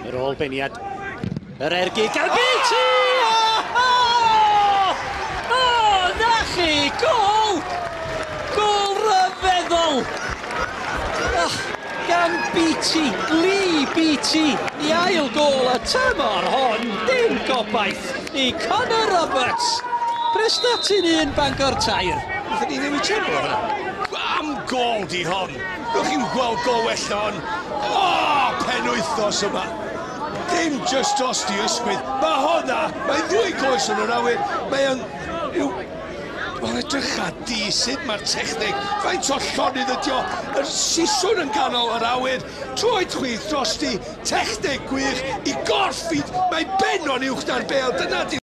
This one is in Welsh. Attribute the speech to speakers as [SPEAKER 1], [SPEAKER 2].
[SPEAKER 1] Yr ôl beniad. Yr ergyd gan Beattie! Oh! Oh, na chi! Gol! Gol ryfeddol! Oh, gan Beattie, Lee Beattie, i ail gol y tymor hon, dim gobaith i Connor Roberts. Prestatyn 1, Bangor 3.
[SPEAKER 2] Wnaethon ni newid channel o hwnna. Am gol di hon! Gewch chi'm gweld gol well na hon. O, penwythnos yma! Dim just dros di ysgwydd. Mae honna, mae ddwy goes yn yr awyr. Mae yn... Yw... Wel, edrycha di sut mae'r techneg, faint o llonydd ydi o, yr siswrn yn ganol yr awyr, troed chwith drosti, techneg gwych, i gorff i, mae ben o'n uwch na'r bêl, dyna di